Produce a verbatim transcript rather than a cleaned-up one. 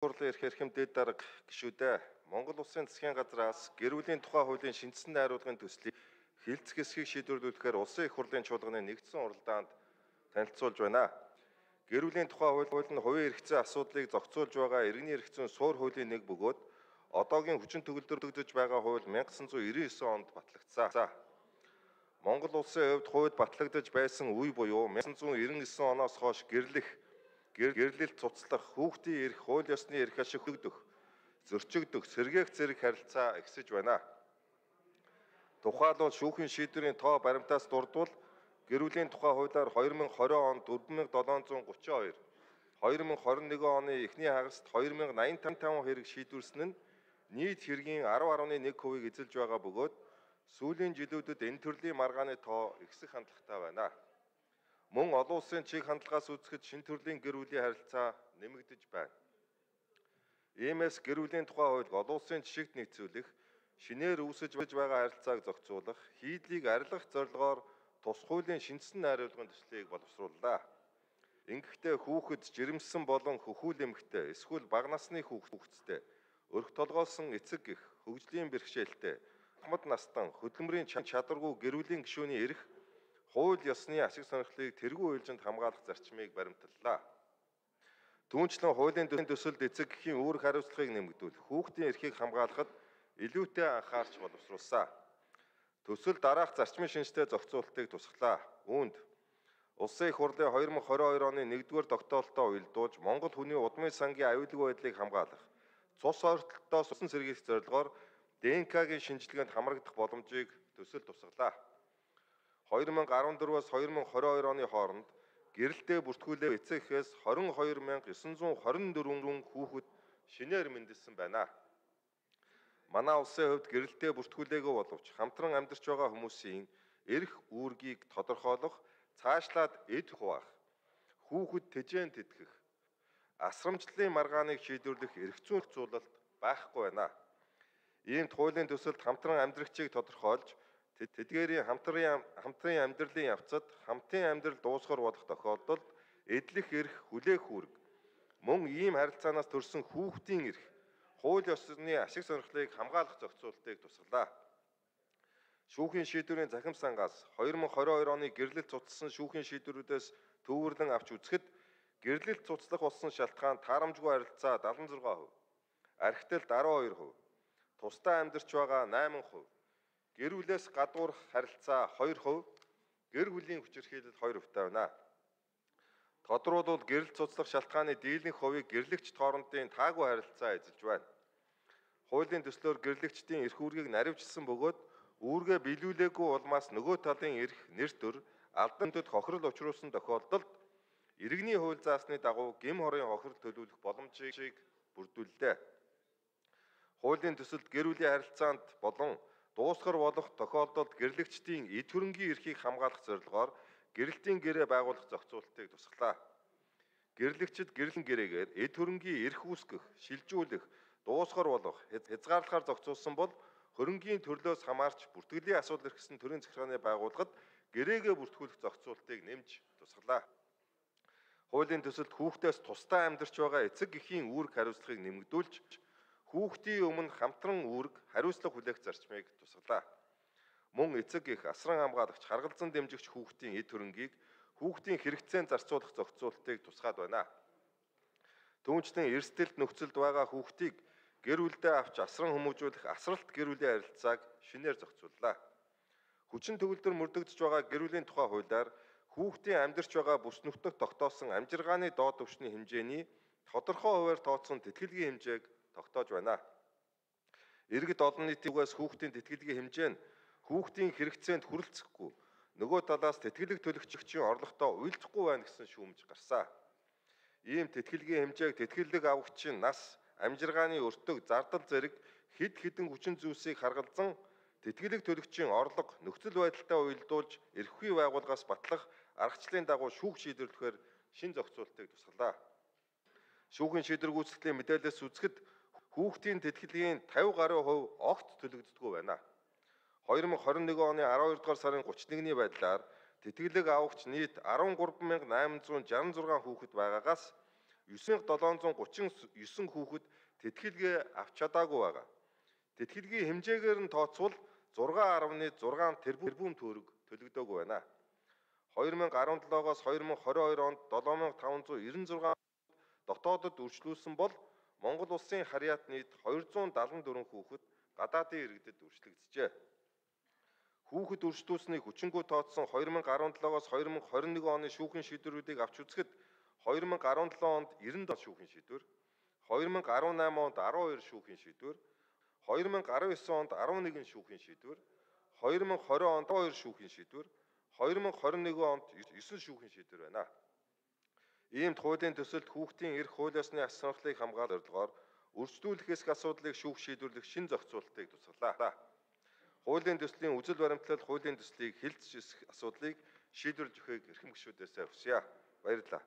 Хурлын эрх эрхэм дэд дарга гишүүдээ Монгол Улсын засгийн газраас гэр бүлийн тухай хуулийн шинжсэн найруулгын төслийг хилцэх хэсгийг шийдвэрлүүлэхээр Улсын их хурлын чуулганы нэгдсэн уралдаанд танилцуулж байна. Гэр бүлийн тухай хууль нь хувийн эрх зүйн асуудлыг зохицуулж байгаа иргэний эрх зүйн суур хуулийн нэг бөгөөд одоогийн хүчин төгөлдрөгдөж байгаа хууль мянга gysan зуун ирвэн девять онд батлагдсан. Монгол Улсын хувьд хууль батлагдаж байсан үе буюу мянга gysan зуун девяносто девять оноос хойш гэрлэх, гэрлэлт цуцлах, хүүхдийн эрх, хууль ёсны эрх ашиг өгдөх, зөрчигдөх, сэргээх зэрэг харилцаа ихсэж байна. Тухайлбал шүүхийн шийдвэрийн тоо баримтаас дурдвал гэр бүлийн тухай хуулиар хоёр мың хорин онд дөрвөн мянга долоон зуун гучин хоёр, хоёр мың хорин нэгэн оны эхний хагаст хоёр мянга аян таван хэрэг шийдвэрсэн нь нийт хэргийн арав гаруй нэг хувийг эзэлж байгаа бөгөөд сүүлийн жилүүдэд энэ төрлийн маргааны тоо ихсэх хандлагатай байна. Мөн олон улсын чиг хандлагаас үзэхэд шинэ төрлийн гэр бүлийн харилцаа нэмэгдэж байна. Иймээс гэр бүлийн тухай хууль олон улсын жишигт нийцүүлэх, шинээр үүсэж байгаа харилцааг зохицуулах, хийдлийг арилгах зорилгоор тус хуулийн шинжсэн найруулгын төслийг боловсрууллаа. Ингэхдээ хүүхэд жирэмсэн болон хөхүүл эмэгтэй, эсвэл бага насны хүүхэдтэй, өрх толгойлсон эцэг гэх хөгжлийн бэрхшээлтэй, ахмад настан хөдөлмөрийн чадваргүй гэр бүлийн гишүүний эрх, хууль ёсны ашиг сонирхлыг тэргүй уйлжинд хамгаалах зарчмыг баримтлалаа. Түүнчлэн хуулийн төсөлд эцэг гэхийн үүрэг хариуцлагыг нэмэгдүүлэх, хүүхдийн эрхийг хамгаалахад илүүтэй анхаарч боловсруулсан. Төсөл дараах зарчмын шинжтэй зохицуулалтыг тусгалаа. Үүнд Улсын их хурлын хоёр мың хорин хоёр оны нэгдүгээр тогтоолтоо уялдуулж Монгол хүний удмын сангийн аюулгүй байдлыг хамгаалах, цус ойртолтоос усан сэргийлэх зорилгоор ДНК-гийн шинжилгээнд хамрагдах боломжийг төсөл тусгалаа. хоёр мың арван дөрвөөс хоёр мың хорин хоёр оны хооронд гэрэлтэй бүртгүүлээ эцэгхээс хорин хоёр мянга gysan зуун хорин дөрвөн хүүхэд шинээр мэндэлсэн байна. Манай улсын хувьд гэрэлтэй бүртгүүлээгүй боловч хамтран амьдарч байгаа хүмүүсийн эрх үүргийг тодорхойлох, цаашлаад эд хуваах, хүүхэд тэжээн тэтгэх, асрамжлалын маргааныг шийдвэрлэх эрх зүйн зохицуулалт байхгүй байна. Иймд хуулийн төсөлд хамтран амьдрагчийг тодорхойлж, тэдгээрийн хамтран хамтран амьдралын явцад хамтын амьдрал дуусгар болох тохиолдолд эдлэх эрх, хүлээх үүрэг, мөн ийм харилцаанаас төрсэн хүүхдийн эрх, хууль ёсны ашиг сонирхлыг хамгаалах зохицуулалтыг тусгалаа. Шүүхийн шийдвэрийн захим сангаас хоёр мың хорин хоёр оны гэрлэлт цуцласан шүүхийн шийдвэрүүдээс төвөрлөн авч үзэхэд гэрлэлт цуцлах болсон шалтгаан таарамжгүй харилцаа дадлан зургаан хувь, архитэлт арван хоёр хувь, тусдаа амьдарч байгаа найман хувь, гэр бүлээс гадуур харилцаа хоёр хувь, гэр бүлийн хүчирхийлэл хоёр хувьтай байна. Тодорхойлбол гэрэл цуцлах шалтгааны дийлэнх хувийг гэрлэгчд хоорондын таагүй харилцаа эзэлж байна. Хуулийн төслөөр гэрлэгчдийн эрх үүргийг наривчилсан бөгөөд үүргээ биелүүлээгүй улмаас нөгөө талын эрх, нэр төр, алдан төд хохирол учруулсан тохиолдолд иргэний хууль заасны дагуу гям хорын хохирол төлөвлөх боломжийг бүрдүүллээ. Хуулийн төсөлд гэр бүлийн харилцаанд болон дуусгар болох тохиолдолд гэрлэгчдийн эд хөрөнгийн эрхийг хамгаалах зорилгоор гэрэлтийн гэрээ байгуулах зохицуулалтыг тусгалаа. Гэрлэгчид гэрлэн гэрээгээр эд хөрөнгийн эрх үүсгэх, шилжүүлэх, дуусгар болох, хязгаарлахаар зохицуулсан бол хөрөнгийн төрлөөс хамаарч бүртгэлийн асуудал эрхсэн төрийн захиргааны байгууллагад гэрээгээ бүртгүүлэх зохицуулалтыг нэмж тусгалаа. Хуулийн төсөлд хүүхдээс тусдаа амьдарч байгаа эцэг гэхийн үүрэг хариуцлагыг нэмэгдүүлж, хүүхдийн өмнө хамтран үүрэг хариуцлага хүлээх зарчмыг тусгалаа. Мөн эцэг гэх асран хамгаалагч, харгалзан дэмжигч хүүхдийн эд хөрөнгийг хүүхдийн хэрэгцээнд зарцуулах зохицуулалтыг тусгаад байна. Түүнчлэн эрсдэлт нөхцөлд байгаа хүүхдийг гэр бүлдээ авч асран хүмүүжүүлэх асралт гэр бүлийн харилцааг шинээр зохицууллаа. Хүчин төгөлдөр мөрдөгдөж байгаа гэр бүлийн тухай хуулиар хүүхдийн амьдарч байгаа бүс нутагт тогтоосон амжиргааны доод түвшний хэмжээний тодорхой хувиар тооцсон тэтгэлгийн хэмжээг тогтоож байна. Иргэд олон нийтийн үгээс хүүхдийн тэтгэлгийн хэмжээ нь хүүхдийн хэрэгцээнд хүрэлцэхгүй, нөгөө талаас тэтгэлэг төлөгчийн орлоготой уялдахгүй байна гэсэн шүүмж гарсан. Ийм тэтгэлгийн хэмжээг тэтгэлэг авагчийн нас, амжиргааны өртөг, зардал зэрэг хэд хэдэн хүчин зүйлсийг харгалзан тэтгэлэг төлөгчийн орлого, нөхцөл байдалтай уялдуулж эрхвээ байгууллагаас батлах аргачлалын дагуу шүүх шийдвэрлэхээр шин зохицуулалтыг тусгалаа. Шүүхийн шийдвэр гүйцэтгэлийн мэдээлэлээс үзэхэд хүүхдийн тэтгэлгийн тавин гаруй хувь огт төлөгддөггүй байна. хоёр мың хорин нэгэн оны арван хоёр дугаар сарын гуравч нэгний байдлаар тэтгэлэг авагч нийт арван гурван мянга найман зуун жавсан зургаан хүүхэд байгаагаас девять мянга седемсот гучин девять хүүхэд тэтгэлгээ авч чадаагүй байгаа. Тэтгэлгийн хэмжээгээр нь тооцвол зураг гаруй зургаан тэрбум төгрөг төлөгдөөгүй байна. хоёр мянга арван седемоос хоёр мянга двадцать хоёр онд семь мянга тавнзаа девяносто шесть дотоодод үржлүүлсэн бол Монгол улсын харьяат нийт двести седемдесет и четыре хүүхэд гадаадын иргэдэд үржлэгджээ. Хүүхэд үржлүүлснийг хүчингү тооцсон хоёр мянга арван седемоос хоёр мянга двадцать один оны шүүхийн шийдвэрүүдийг авч үзэхэд хоёр мянга арван седем онд девяносто шүүхийн шийдвэр, хоёр мянга арван восемь онд twelve шүүхийн шийдвэр, хоёр мянга десдевь онд eleven шүүхийн шийдвэр, хоёр мянга двадцать онд two шүүхийн шийдвэр, хоёр мянга двадцать one онд nine шүүхийн шийдвэр байна. Иймд хуулийн төсөлд хүүхдийн эрх хууль ёсны аз жаргалыг хамгаалах зорилгоор үржлүүлэх эсэх асуудлыг шүүх шийдвэрлэх шин зохицуултыг тусгалаа. Хуулийн төслийн үзэл баримтлал хуулийн төслийг хилцэж эсэх асуудлыг шийдвэрлэж өгөхийг эрхэм гишүүдээс хүсье. Баярлалаа.